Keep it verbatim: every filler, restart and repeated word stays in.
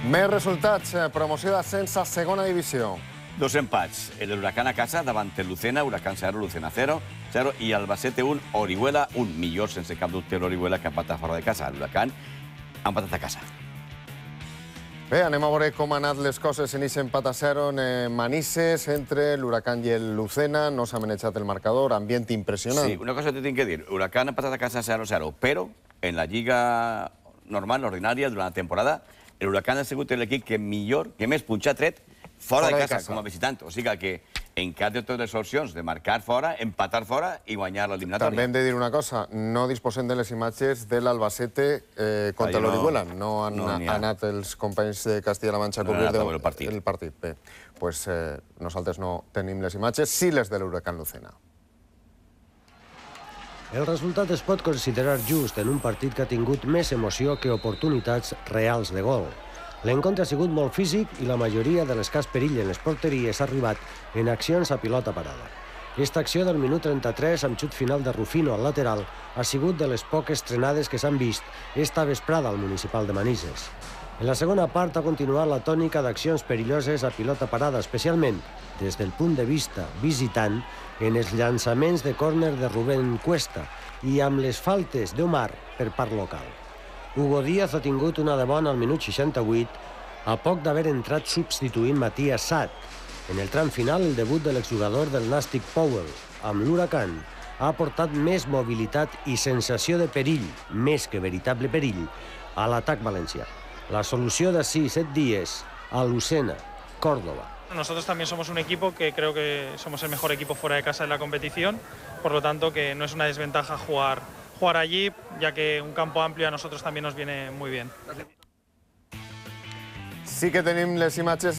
Més resultats. Promoció d'ascens a segona divisió. Dos empats. El Huracán a casa davant el Lucena, Huracán cero, Lucena cero, cero, i Albacete un, Orihuela un. Millor, sense cap dubte, l'Orihuela, que ha empatat fora de casa. L'Huracán ha empatat a casa. Bé, anem a veure com han anat les coses en aquest empat a zero en Manises entre l'Huracán i el Lucena. No s'ha manejat el marcador, ambient impressionant. Sí, una cosa te tinc que dir. Huracán ha empatat a casa cero cero, però en la lliga normal, ordinària, durant la temporada, el Huracán ha sigut l'equip que millor, que més punxa ha tret fora de casa, com a visitant. O sigui que en cap de totes les opcions de marcar fora, empatar fora i guanyar l'eliminatòria. També hem de dir una cosa, no disposem de les imatges de l'Albacete contra l'Orihuela. No han anat els companys de Castilla-La Manxa a cobrir el partit. Bé, doncs nosaltres no tenim les imatges, sí les de l'Huracán Lucena. El resultat es pot considerar just en un partit que ha tingut més emoció que oportunitats reals de gol. L'encontre ha sigut molt físic i la majoria de l'escàs perill en les porteries ha arribat en accions a pilota parada. Aquesta acció del minut trenta-tres amb xut final de Rufino al lateral ha sigut de les poques trenades que s'han vist esta vesprada al municipal de Manises. En la segona part ha continuat la tònica d'accions perilloses a pilota parada, especialment des del punt de vista visitant en els llançaments de córner de Rubén Cuesta i amb les faltes d'Omar per part local. Hugo Díaz ha tingut una de bona al minut seixanta-vuit, a poc d'haver entrat substituint Matías Sat. En el tram final, el debut de l'exjugador del Nàstic Powell amb l'Huracán ha aportat més mobilitat i sensació de perill, més que veritable perill, a l'atac valencià. La solució d'ací set dies a Lucena, Córdoba. Nosotros también somos un equipo que creo que somos el mejor equipo fuera de casa en la competición, por lo tanto que no es una desventaja jugar, jugar allí, ya que un campo amplio a nosotros también nos viene muy bien. Sí que tenim les imatges